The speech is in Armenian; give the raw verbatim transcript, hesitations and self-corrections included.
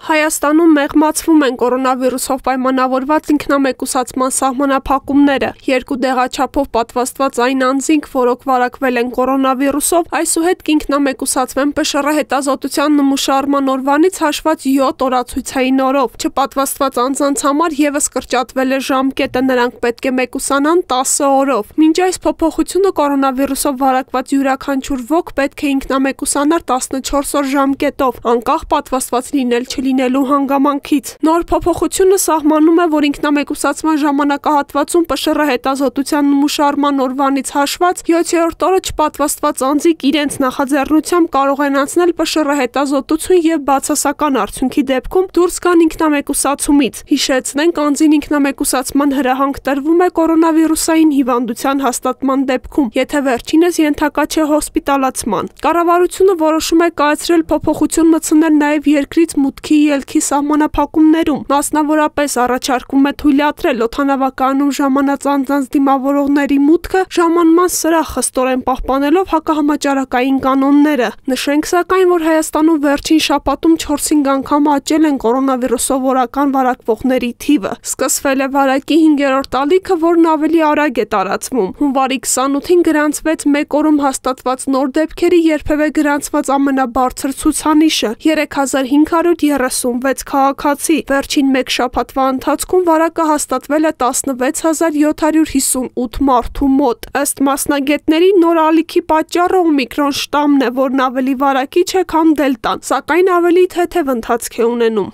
Հայաստանում մեղմացվում են կորոնավիրուսով պայմանավորված ինքնամեկուսացման սահմանափակումները։ Երկու դեղաչափով պատվաստված այն անձինք, որոնք վարակվել են կորոնավիրուսով, այսուհետ կինքնամեկուսացվեն ՊՇՌ հետազոտության նմուշարման օրվանից հաշված յոթ օրացույցային օրով։ Չպատվաստված անձանց համար ևս կրճատվել է ժամկետը, նրանք պետք է մեկուսանան տասը օրով։ Մինչ այս փոփոխությունը կորոնավիրուսով վարակված յուրաքանչյուր ոք պետք է ինքնամեկուսանար տասնչորս օր ժամկետով, անկախ պատվաստված լինել չլինելու հանգամանքից։ Նոր փոփոխությունը սահմանում է, որ ինքնամեկուսացման ժամանակահատվածում ՊՇՌ հետազոտության նմուշարման օրվանից հաշված յոթերորդ օրը չպատվաստված անձիկ իրենց նախաձեռնությամբ կարող են անցնել ՊՇՌ հետազոտություն եւ բացասական արդյունքի դեպքում դուրս գան ինքնամեկուսացումից։ Հիշեցնենք, անձին ինքնամեկուսացման հրահանգ տրվում է կորոնավիրուսային հիվանդության հաստատման դեպքում, եթե վերջինս ենթակա չէ հոսպիտալացման։ Կառավարությունը որոշում է կայացրել փոփոխություն մտցնել նաեւ երկրից մուտքի ելքի սահմանափակումներում, մասնավորապես առաջարկում է թույլատրել օդանավակայանում ժամանած անձանց դիմավորողների մուտքը ժամանման սրահ խստորեն պահպանելով հակահամաճարակային կանոնները։ Նշենք սակայն, որ Հայաստանում վերջին շաբաթում չորսինգ անգամ աճել են կորոնավիրուսով օրական վարակվողների թիվը։ Սկսվել է վարակի հինգերորդ ալիքը, որն ավելի արագ է տարածվում։ Հունվարի քսանութին գրանցվեց մեկ օրում հաստատված նոր դեպքերի երբևէ գրանցված ամենաբարձր ցուցանիշը՝ երեք հազար հինգ հարյուր երեսունվեց քաղաքացի։ Վերջին մեկ շաբաթվա ընթացքում վարակը հաստատվել է տասնվեց հազար յոթ հարյուր հիսունութ մարդու մոտ։ Ըստ մասնագետների, նոր ալիքի պատճառը օմիկրոն շտամն է, որն ավելի վարակիչ է, քան դելտան, սակայն ավելի թեթև ընթացք է ունենում։